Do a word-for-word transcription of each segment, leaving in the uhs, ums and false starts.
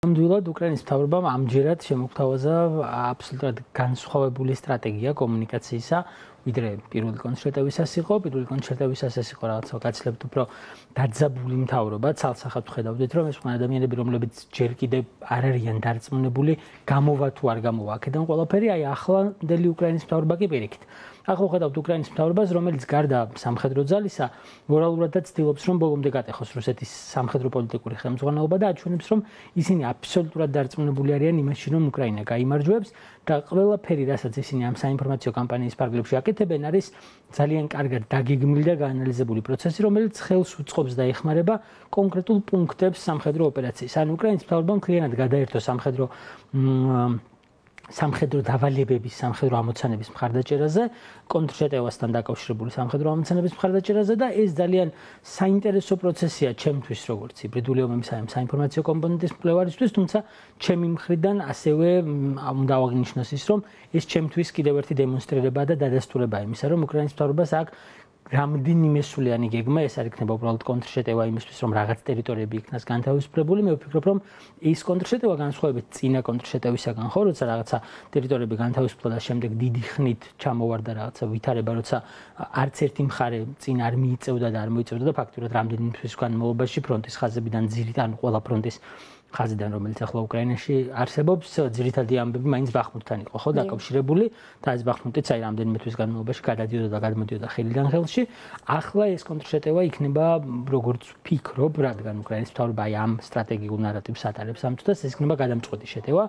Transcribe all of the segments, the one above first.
ნამდვილად უკრაინის მთავრობამ ამჯერად შემოგთავაზა აბსოლუტურად განსხვავებული სტრატეგია კომუნიკაციისა, ვიდრე პირველი კონცერტებისას იყო, პირველი კონცერტებისას ეს იყო რაღაცა გაცილებით უფრო დაძაბული მთავრობა, ცალსახად ხედავდით, რომ ეს ყველა ადამიანები, რომლებიც ჯერ კიდევ არ არიან დარწმუნებული, გამოვა თუ არ გამოვა აქედან ყველაფერი, აი ახლანდელი უკრაინის მთავრობა კი პირიქით. ახლა ხედავთ უკრაინის მთავრობას, რომელიც გარდა სამხედრო ძალისა, მორალურადაც ცდილობს, რომ ბოლომდე გატეხოს რუსეთის სამხედრო პოლიტიკური ხელმძღვანელობა და აჩვენებს, რომ ისინი აბსოლუტურად დარწმუნებული არიან იმაში, რომ უკრაინა გაიმარჯვებს და ყველაფერი, რასაც ისინი ამ საინფორმაციო კამპანიის ფარგლებში აკეთებენ, არის ძალიან კარგად დაგეგმილი და გაანალიზებული პროცესი, რომელიც ხელს უწყობს და ეხმარება კონკრეტულ პუნქტებს სამხედრო ოპერაციის. ან უკრაინის მთავრობამ მთლიანად გადაერთო სამხედრო სამხედრო დავალებების, სამხედრო ამოცანების მხარდაჭერაზე, კონტრშეტევასთან დაკავშირებული სამხედრო ამოცანების მხარდაჭერაზე და ეს ძალიან საინტერესო პროცესია ჩემთვის, როგორც ჰიბრიდული ომების საინფორმაციო კომპონენტის მკვლევარისთვის, თუმცა ჩემი მხრიდან ასევე უნდა აღნიშნოს ის, რომ ეს ჩემთვის კიდევ ერთი დემონსტრირება და დადასტურებაა იმისა, რომ უკრაინის მთავრობას აქ რამდენიმე სულიანი გეგმა, ეს არ იქნება უბრალოდ კონტრშეტევა იმისთვის, რომ რაღაც ტერიტორიები იქნას განთავისუფლებული. მე ვფიქრობ, რომ ეს კონტრშეტევა განსხვავებით წინა კონტრშეტევისაგან, ხო, როცა რაღაცა ტერიტორიები განთავისუფლდა და შემდეგ დიდი ხნით ჩამოვარდა რაღაცა ვითარება, როცა არც ერთი მხარე წინ არ მიიწევდა და არ მოიწევდა და ფაქტურად რამდენიმე თვის განმავლობაში ფრონტის ხაზებიდან ძირითადად ყველა ფრონტის ხაზიდან, რომელიც ახლა უკრაინაში არსებობს, ძირითადი ამბები მაინც ბახმუტთან იყო, ხო, დაკავშირებული და ეს ბახმუტიც აი რამდენიმე თვის განმავლობაში გადადიოდა და გადმოდიოდა ხელიდან ხელში. ახლა ეს კონტრშეტევა იქნება, როგორც ვფიქრობ, რადგან უკრაინის მთავრობა აი ამ სტრატეგიულ ნარატივს ატარებს ამ წუთას, ეს იქნება გადამწყვეტი შეტევა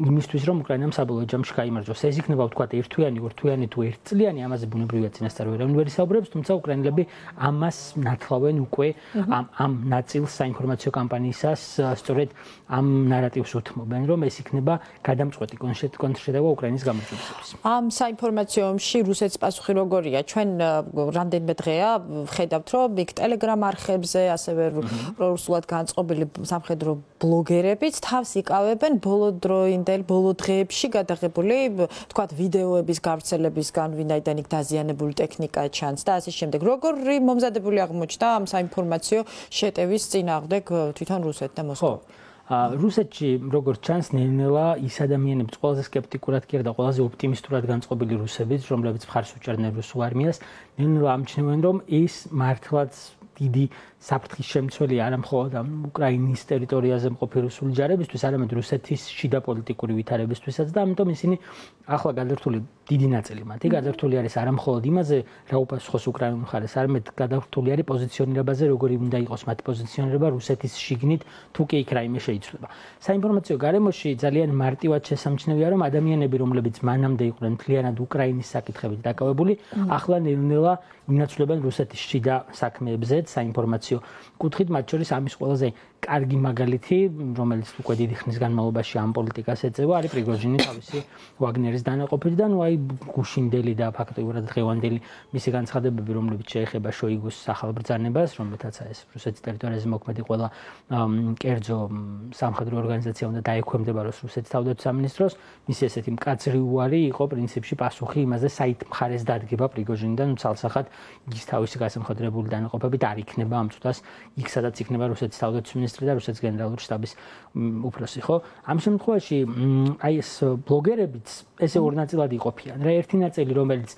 იმისთვის, რომ უკრაინამ საბოლოო ჯამში გაიმარჯვოს. ეს იქნება ვთქვათ ერთთვიანი, ორთვიანი თუ ერთწლიანი, ამაზე ბუნებრივია წინასწარ ვერავინ ვერ ისაუბრებს, თუმცა უკრაინელები ამას ნათლავენ უკვე ამ ამ ნაწილს საინფორმაციო კამპანიისას სწორედ ამ ნარატივს უთმობენ, რომ ეს იქნება გადამწყვეტი კონტრშეტევა უკრაინის გამარჯვებისთვის. ამ საინფორმაციო ომში რუსეთის პასუხი როგორია? ჩვენ რამდენიმე დღეა ხედავთ, რომ იქ ტელეგრამ არხებზე, ასევე რუსულად განწყობილი სამხედრო ბლოგერებიც თავს იკავებენ ბოლო დროინდელ, ბოლო დღეებში გადაღებული, თქვათ, ვიდეოების გავრცელებისგან, ვინაიდან იქ დაზიანებული ტექნიკა ჩანს და ასე შემდეგ. როგორი მომზადებული აღმოჩნდა ამ საინფორმაციო შეტევის წინააღმდეგ თვითონ რუსეთი და მოსკოვა? რუსეთში როგორც ჩანს, ნელ-ნელა ის ადამიანებიც ყველაზე სკეპტიკურად კი არა და ყველაზე ოპტიმისტურად განწყობილი რუსებიც, რომლებიც მხარს უჭერდნენ რუსულ არმიას, ნელ-ნელა ამჩნევენ, რომ ეს მართლაც დიდი საფრთხის შემცველი არა მხოლოდ უკრაინის ტერიტორიაზე მყოფი რუსული ჯარებისთვის, არამედ რუსეთის შიდა პოლიტიკური ვითარებისთვისაც და ამიტომ ისინი ახლა გადართული დიდი ნაწილი მათი გადართული არის არა მხოლოდ იმაზე, რა უპასუხოს უკრაინულ მხარეს, არამედ გადართული არის პოზიციონირებაზე, როგორი უნდა იყოს მათი პოზიციონირება რუსეთის შიგნით, თუ კი იქ რაიმე შეიცვლება. საინფორმაციო გარემოში ძალიან მარტივად შესამჩნევია, რომ ადამიანები, რომლებიც მანამდე იყვნენ მთლიანად უკრაინის საკითხებით დაკავებული, ახლა ნელ-ნელა ინაცვლებენ რუსეთის შიდა საქმეებზეც საინფორმაციო კუთხით, მათ შორის ამის ყველაზე კარგი მაგალითი, რომელიც უკვე დიდი ხნის განმავლობაში ამ პოლიტიკას ეწევა, არის პრიგოჟინი თავისი ვაგნერის დანაყოფით და ნუ აი გუშინდელი და ფაქტობრივად დღევანდელი მისი განცხადებები, რომლებიც შეეხება შოიგუს ახალ ბრძანებას, რომელთაც ეს რუსეთის ტერიტორიაზე მოქმედი ყველა კერძო სამხედრო ორგანიზაცია უნდა დაექვემდებაროს რუსეთის თავდაცვის სამინისტროს, მისი ესეთი მკაცრი უარი იყო პრინციპში პასუხი იმაზე, საით მხარეს დადგება პრიგოჟინი და ნუ ცალსახად ის თავისი გასამხედრებული დანაყოფებით არ იქნება ამ წუთას იქ, სადაც იქნება რუსეთის თავდაცვის მინისტრი და რუსეთის გენერალური შტაბის უფროსი, ხო? ამ შემთხვევაში აი ეს ბლოგერებიც ესე ორ ნაწილად იყოფიან. რა ერთი ნაწილი, რომელიც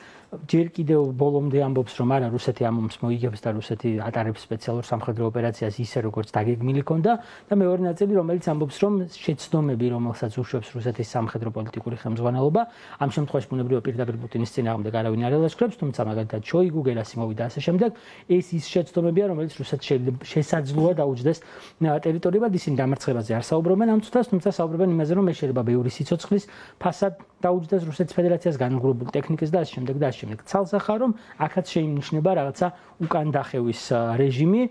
ჯერ კიდევ ბოლომდე ამბობს, რომ არა, რუსეთი ამ ომს მოიგებს და რუსეთი ატარებს სპეციალურ სამხედრო ოპერაციას ისე, როგორც დაგეგმილი ქონდა და მეორე ნაწილი, რომელიც ამბობს, რომ შეცდომები, რომელსაც უშვებს რუსეთის სამხედრო პოლიტიკური ხელმძღვანელობა, ამ შემთხვევაში ბუნებრივია პირდაპირ პუტინის წინააღმდეგ არავინ არ ელაშქრებს, თუმცა მაგალითად შოიგუ, გერასიმოვი და ასე შემდეგ, ეს ის შეცდომებია, რომელიც რუსეთს შესაძლოა დაუჯდეს ტერიტორიებად, ისინი დამარცხებაზე არ საუბრობენ ამ წუთას, თუმცა საუბრობენ იმაზე, რომ ეს შეიძლება ბევრი სიცოცხლის ფასად დაუჯდეს რუსეთის ფედერაციას განმგრობებული ტექნიკის და ასე შემდეგ და ასე შემდეგ. ცალსახარ რომ აქაც შეინიშნება რაღაცა უკან დახევის რეჟიმი,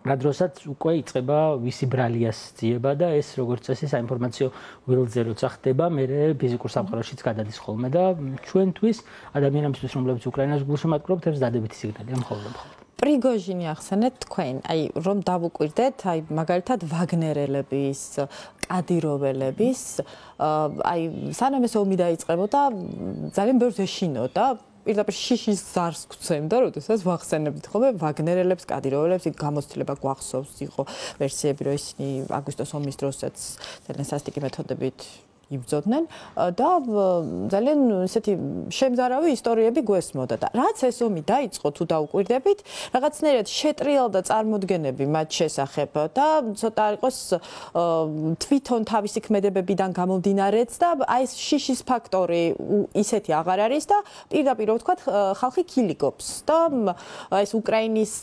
რადგანაც უკვე იწყება ვისი ბრალიას ძიება და ეს როგორც წესი საინფორმაციო ველზე როცა ხდება, მე ფიზიკურ სამყაროშიც გადადის ხოლმე და ჩვენთვის ადამიანებისთვის, რომლებიც უკრაინას გულშემატკივრობთ, ეს დადებითი სიგნალია მხოლოდ მხოლოდ. პრიგოჟინი ახსენეთ თქვენ, აი რომ დავუკვირდეთ, აი მაგალითად ვაგნერელების, კადიროველების, აი სანამ ეს ომი დაიწყებოდა, ძალიან ბევრს ეშინოდა პირდაპირ შიშის ზარს გვცემდა, როდესაც ვახსენებთ ხოლმე ვაგნერელებს, კადიროველებს, იქ გამოცდილება გვახსოვს, იყო ვერსიები, რომ ისინი აგვისტოს ომის დროსაც ძალიან სასტიკი მეთოდებით იბრძოდნენ და ძალიან ესეთი შემზარავი ისტორიები გვესმოდა და რაც ეს ომი დაიწყო თუ დაუკვირდებით, რაღაცნაირად შეტრიალდა წარმოდგენები მათ შესახებ და ცოტა იყოს თვითონ თავისი ქმედებებიდან გამომდინარეც და აი ეს შიშის ფაქტორი ისეთი აღარ არის და პირდაპირ ვთქვათ ხალხი კილიკობს და აი ეს უკრაინის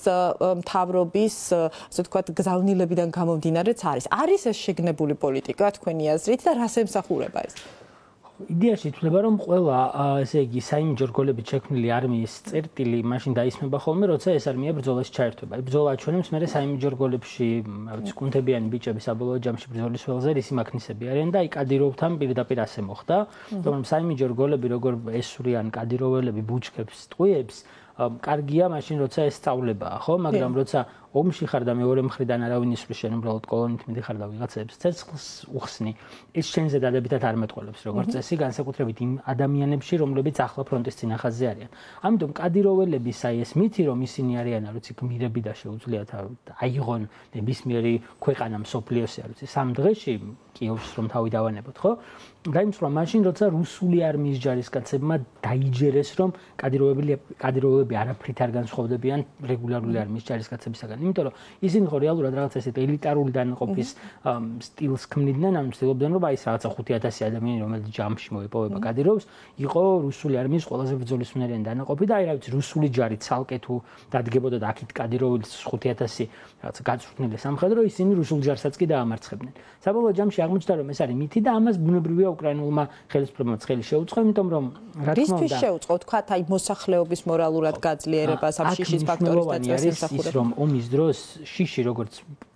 მთავრობის ასე ვთქვათ გზავნილებიდან გამომდინარეც არის. არის ეს შეგნებული პოლიტიკა თქვენი აზრით და რას ემსახურება? იდეაში ითვლება, რომ ყველა ესე იგი საიმიჯო რგოლებით შექმნილი არმიის წერტილი მაშინ დაისმება ხოლმე, როცა ეს არმია ბრძოლაში ჩაერთვება. ბრძოლა აჩვენებს, მე საიმიჯო რგოლებში, რაღაც კუნთებიანი ბიჭები საბოლოო ჯამში ბრძოლის ველზე რისი მაქნისები არიან და აი კადიროვთან პირდაპირ ასე მოხდა, რომ საიმიჯო რგოლები როგორ ესვრიან კადიროველები ბუჩქებს, ტყვიებს, კარგია მაშინ როცა ეს სწავლებაა, ხო? მაგრამ როცა ომში ხარ და მეორე მხრიდან არავინ ისვრის შენ უბრალოდ კოლონით მიდიხარ და ვიღაცებს ცეცხლს უხსნი. ეს შენზე დადებითად არ მეტყველებს როგორც წესი, განსაკუთრებით იმ ადამიანებში, რომლებიც ახლა ფრონტის წინახაზზე არიან. ამიტომ კადიროველების აი ეს მითი, რომ ისინი არიან, არ ვიცი, გმირები და შეუძლიათ აიღონ ნებისმიერი ქვეყანა მსოფლიოსი, არ ვიცი, სამ დღეში კიევს რომ თავი დავანებოთ, ხო? დაიმსხვრა მაშინ, როცა რუსული არმიის ჯარისკაცებმა დაიჯერეს, რომ კადიროველი კადიროვები არაფრით არ განსხვავდებიან რეგულარული არმიის ჯარისკაცებისაგან. იმიტომ რომ ისინი ხო რეალურად რაღაც ესეთ ელიტარული დანაყოფის სტილს ქმნიდნენ, ანუ ცდილობდნენ რომ აი ეს რაღაცა ხუთი ათასი ადამიანი რომელიც ჯამში მოიპოვება კადიროვს, იყო რუსული არმიის ყველაზე ბრძოლისმნელიანი დანაყოფი და აი რა ვიცი რუსული ჯარი ცალკე თუ დადგებოდა და აქეთ კადიროვის ხუთი ათასი რაღაცა გაწვრთნილი სამხედრო, ისინი რუსულ ჯარსაც კი დაამარცხებდნენ. საბოლოო ჯამში აღმოჩნდა რომ ეს არის მითი და ამას ბუნებრივია უკრაინულმა ხელისუფლებამ ხელი შეუწყო, იმიტომ რომ რა თქმა უნდა რისთვის შეუწყო თქვათ აი მოსახლეობის მორალურად გაძლიერებას ამ შიშის ფაქტორის დაწესებასა რომ ომის დროს შიში როგორც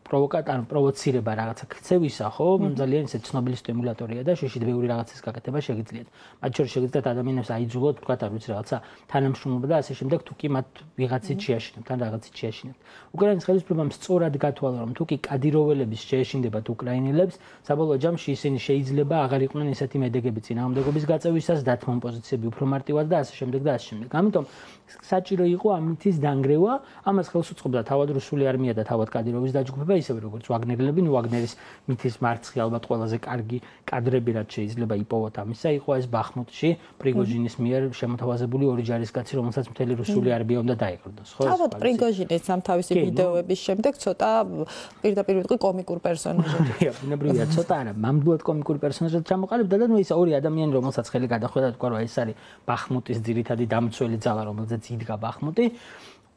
პროვოკატორ პროვოცირება რაღაცა ქცევისა, ხო, ძალიან ისე ცნობილი სტიმულატორია და შიში ბევრი რაღაცის გაკეთება შეგიძლიათ. მათ შორის შეგიძლიათ ადამიანებს აიძულოთ, თქვათ, არ ვიცი, რაღაცა თანამშრომლობა და ასე შემდეგ, თუ კი მათ ვიღაცით შეაშინებთ, თან რაღაცით შეაშინებთ. უკრაინის ხელისუფლებამ სწორად გათვალა, რომ თუ კი კადიროველების შეეშინდებათ უკრაინელებს, საბოლოო ჯამში ისინი შეიძლება აღარ იყვნენ ისეთი მედეგები წინააღმდეგობის გაწევისას, დათმობ პოზიციები უფრო მარტივად და ასე შემდეგ და ასე შემდეგ. ამიტომ საჭირო იყო ამითის დანგრევა, ამას ხელს უწყობდა თავად რუსული არმია და თავად კადიროვის დაჯგუფება, ისევე როგორც ვაგნერელები, ნუ ვაგნერის მითის მარცხი ალბათ ყველაზე კარგი კადრები რაც შეიძლება იპოვოთ ამისა, იყო ეს ბახმუტში პრიგოჟინის მიერ შემოთავაზებული ორი ჯარისკაცი, რომელსაც მთელი რუსული არმია უნდა დაეყრდნოს, ხო? თავად პრიგოჟინიც ამ თავისი ვიდეოების შემდეგ ცოტა პირდაპირ ვიტყვი კომიკურ პერსონაჟად. ბუნებრივია, ცოტა არა, მამდულად კომიკურ პერსონაჟად ჩამოყალიბდა და ნუ ის ორი ადამიანი, რომელსაც ხელი გადახვდა, თქვა რომ ეს არის ბახმუტის ძირითადი დამცველი ძალა, რომელზეც იდგა ბახმუტი.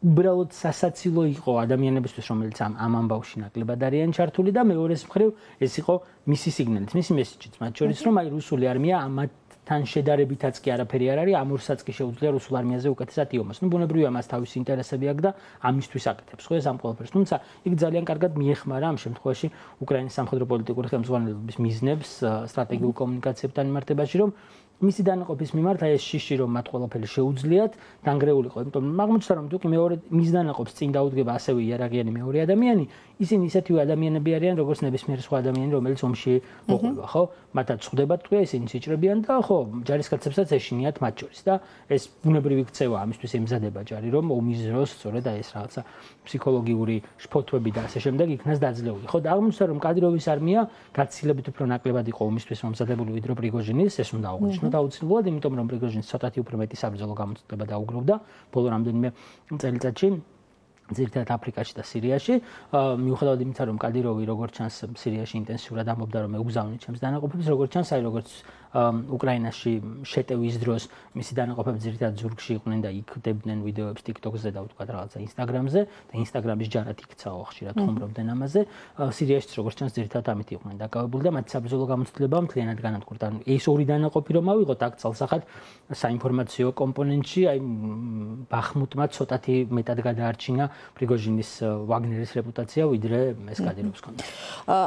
უბრალოდ სასაცილო იყო ადამიანებისთვის, რომელიც ამ ამ ამბავში ნაკლებად არიან ჩართული და მეორეს მხრივ ეს იყო მისი სიგნალით, მისი მესიჯიც, მათ შორის რომ აი რუსული არმია ამათთან შედარებითაც კი არაფერი არ არის, ამ ორსაც კი შეუძლია რუსულ არმიაზე უკეთესად იომოს. ნუ ბუნებრივია მას თავისი ინტერესები აქვს და ამისთვის აკეთებს, ხო ეს ამ ყველაფერს. თუმცა იქ ძალიან კარგად მიეხმარა ამ შემთხვევაში უკრაინის სამხედრო პოლიტიკური ხელმძღვანელობის მიზნებს სტრატეგიულ კომუნიკაციებთან მიმართებაში, რომ მისი დანაყოფის მიმართ აი ეს შიში რომ მათ ყველაფერი შეუძლიათ დანგრეულიყო. იმიტომ აღმოჩნდა რომ თუკი მეორე მის დანაყოფს წინ დაუდგება ასევე იარაღიანი მეორე ადამიანი, ისინი ისეთივე ადამიანები არიან როგორც ნებისმიერი სხვა ადამიანი, რომელიც ომში მოყვება, ხო? მათაც ხვდება თქვა, ისინი სიჭრებიან და ხო, ჯარისკაცებსაც ეშინიათ მათ შორის და ეს ბუნებრივი ქცევა ამისთვის ემზადება ჯარი, რომ ომის დროს სწორედ აი ეს რაღაცა ფსიქოლოგიური შფოთვები და ასე შემდეგ იქნას დაძლეული. ხო, და აღმოჩნდა რომ კადიროვის არმია გაცილებით უფრო ნაკლებად იყო ომისთვის მომზადებული ვიდრე პრიგოჟინის, ეს უნდა აღვნიშნოთ აუცილებლად, იმიტომ რომ პრიგოჟინს ცოტათი უფრო მეტი საბრძოლო გამოცდილება დაუგროვდა ბოლო რამდენიმე წელიწადში. ძირითადად აფრიკაში და სირიაში, მიუხედავად იმისა, რომ კადიროვი როგორც ჩანს სირიაში ინტენსიურად ამბობდა, რომ ეუგზავნით ჩემს დანაყოფებს, როგორც ჩანს, აი როგორც უკრაინაში შეტევის დროს მისი დანაყოფები ძირითადად ზურგში იყვნენ და იქდებდნენ ვიდეოებს TikTok-ზე და ვთქვათ რაღაცა Instagram-ზე და Instagram-ის ჯარად იქცაო ხშირად ხუმრობდნენ ამაზე. სირიაშიც როგორც ჩანს ძირითადად ამით იყვნენ დაკავებული და მათი საბრძოლო გამოცდილება მთლიანად განადგურდა. ანუ ეს ორი დანაყოფი რომ ავიღოთ აქ წალსახად საინფორმაციო კომპონენტში, აი ბახმუტმა ცოტათი მეტად გადაარჩინა პრიგოჟინის ვაგნერის რეპუტაცია ვიდრე ეს კადიროვს ჰქონდა.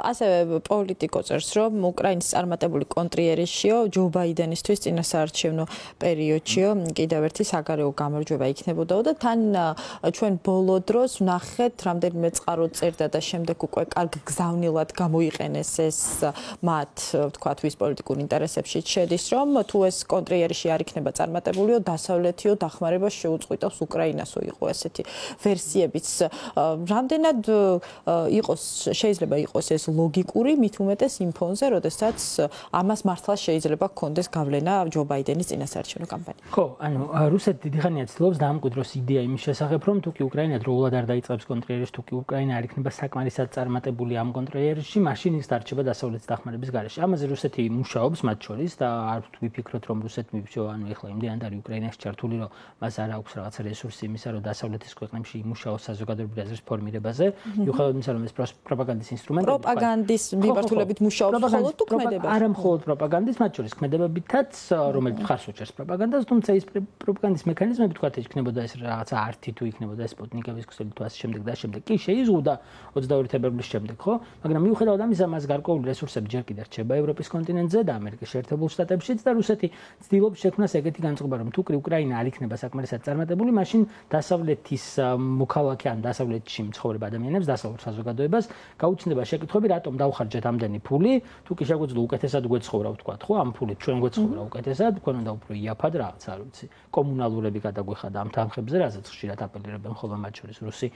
ასევე პოლიტიკო წერს, რომ უკრაინის წარმატებული კონტრიერიშიო პერიოდშიო, ჯო ბაიდენისთვის წინასაარჩევნო პერიოდშიო კიდევ ერთი საგარეო გამარჯვება იქნებოდა და თან ჩვენ ბოლო დროს ვნახეთ რამდენიმე წყარო წერდა და შემდეგ უკვე კარგ გზავნილად გამოიყენეს ეს მათ ვთქვათ ვის პოლიტიკურ ინტერესებში შედის რომ თუ ეს კონტრიერში არ იქნება წარმატებულიო დასავლეთიო დახმარებას შეუწყვიტავს უკრაინასო იყო ესეთი ვერსიებიც რამდენად იყოს შეიძლება იყოს ეს ლოგიკური მით უმეტეს იმ ფონზე როდესაც ამას მართლა შეიძლება გქონდეს გავლენა ჯო ბაიდენის წინასაარჩევნო კამპანიაში ხო ანუ რუსეთი დიდი ხანია ცდილობს დაამკვიდროს იდეა იმის შესახებ რომ თუ კი უკრაინა დროულად არ დაიწყებს კონტრიერში თუ კი უკრაინა არ იქნება საკმარისად წარმატებული ამ კონტრიერში მაშინ ის დარჩება დასავლეთის დახმარების გარეშე ამაზე რუსეთი მუშაობს მათ შორის და არ ვფიქროთ რომ რუსეთმა ანუ ეხლა იმდენად არის უკრაინაში ჩართული რომ მას არ აქვს რაღაცა რესურსი იმისა რომ დასავლეთის ქვეყნებში იმუშაოს საზოგადოებრივი აზრის ფორმირებაზე მიუხედავად იმისა რომ ეს პროპაგანდის ინსტრუმენტი პროპაგანდის მიმართულებით მუშაობს მხოლოდ თუ ქმედება არა მხოლოდ პროპაგანდის მათ შორის ქმედებებითაც რომელიც მხარს უჭერს პროპაგანდას თუმცა ის პროპაგანდის მექანიზმები თქვა იქნებოდა ეს რაღაცა ართი თუ იქნებოდა სპუტნიკების ქსელი თუ ასე შემდეგ და შემდეგ კი შეიზღუდა ოცდაორი თებერვლის შემდეგ ხო მაგრამ მიუხედავად ამისა მას გარკვეული რესურსები ჯერ კიდევ რჩება ევროპის კონტინენტზე და ამერიკის შეერთებულ შტატებშიც და რუსეთი ცდილობს შექმნას ეგეთი განწყობა რომ თუ კი უკრაინა არ იქნება საკმარისად წარმატებული მაშინ დასავლეთის მოქალაქე ან დასავლეთში მცხოვრებ ადამიანებს დასავლურ საზოგადოებას გაუჩნდება შეკითხვები რატომ დავხარჯეთ ამდენი ფული თუ კი შეგვიძლია უკეთესად გვეცხოვრა ვთქვათ ხო ამ ფულით ჩვენ გვეცხოვრა უკეთესად თქვენ უნდა უფრო იაფად რაღაც არ ვიცი კომუნალურები გადაგვეხადა ამ თანხებზე რაზეც ხშირად აპელირებენ ხოლმე მათ შორის რუსი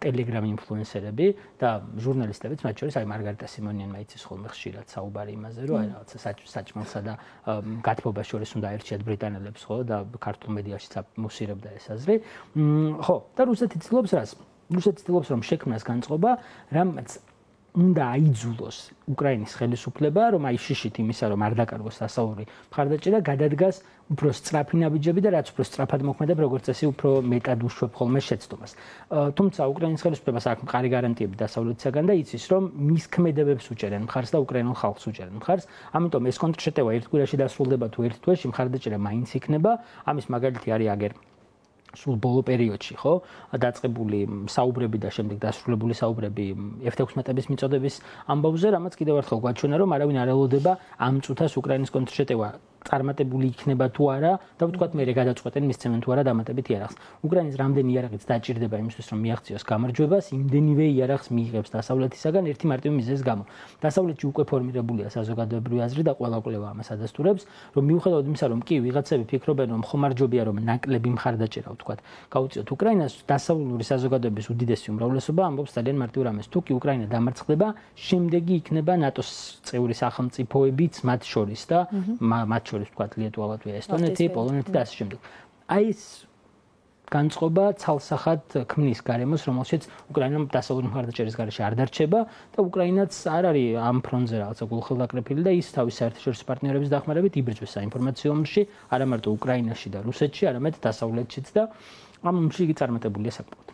ტელეგრამ ინფლუენსერები და ჟურნალისტებიც მათ შორის აი მარგარიტა სიმონიანმა იცის ხოლმე ხშირად საუბარი იმაზე რომ აი რაღაცა საჭმელსა და გათბობას შორის უნდა ერჩიათ ბრიტანელებს ხო და ქართულ მედიაშიც მოსირებდა ეს აზრი ხო და რუსეთი ცდილობს რას რუსეთი ცდილობს რომ შექმნას განწყობა რამაც უნდა აიძულოს უკრაინის ხელისუფლება რომ აი შიშით იმისა რომ არ დაკარგოს დასავლური მხარდაჭერა გადადგას უფრო სწრაფი ნაბიჯები და რაც უფრო სწრაფად მოქმედებ როგორც წესი უფრო მეტად უშვებ ხოლმე შეცდომას თუმცა უკრაინის ხელისუფლებას აქვს მყარი გარანტიები დასავლეთისაგან და იცის რომ მის ქმედებებს უჭერენ მხარს და უკრაინულ ხალხს უჭერენ მხარს ამიტომ ეს კონტრშეტევა ერთ კვირაში დასრულდება თუ ერთ თვეში მხარდაჭერა მაინც იქნება ამის მაგალითი არის აგერ სულ ბოლო პერიოდში ხო დაწყებული საუბრები და შემდეგ დასრულებული საუბრები ეფ თექვსმეტების მიწოდების ამბავზე რამაც კიდევ ერთხელ გვაჩვენა რომ არავინ არ ელოდება ამ წუთას უკრაინის კონტრშეტევა წარმატებული იქნება თუ არა და ვთქვათ მე გადაწყვეტენ მისცემენ თუ არა დამატებით იარაღს უკრაინის რამდენი იარაღიც დაჭირდება იმისთვის რომ მიაღწიოს გამარჯვებას იმდენივე იარაღს მიიღებს დასავლეთისაგან ერთი მარტივი მიზეზის გამო დასავლეთში უკვე ფორმირებულია საზოგადოებრივი აზრი და ყველა კვლევა ამას ადასტურებს რომ მიუხედავად იმისა რომ კი ვიღაცები ფიქრობენ რომ ხომარჯვებია რომ ნაკლები მხარდაჭერა ვთქვათ გაუწიოთ უკრაინას დასავლური საზოგადოების უდიდესი უმრავლესობა ამბობს ძალიან მარტივ რამეს თუ კი უკრაინა დამარცხდება შემდეგი იქნება ნატოს წევრი სახელმწიფოებიც მათ შორის და მათ შორის ვთქვათ ლიტვა, ლატვია, ესტონეთი, პოლონეთი და ასე შემდეგ. აი ეს განწყობა ცალსახად ქმნის გარემოს, რომელშიც უკრაინა დასავლური მხარდაჭერის გარეშე არ დარჩება და უკრაინაც არ არის ამ ფრონტზე რაღაცა გულხილდაკრეფილი და ის თავის საერთაშორისო პარტნიორების დახმარებით იბრძვის საინფორმაციო ომში, არა მარტო უკრაინაში და რუსეთში, არამედ დასავლეთშიც და ამ ომში იგი წარმატებულია საკმაოდ.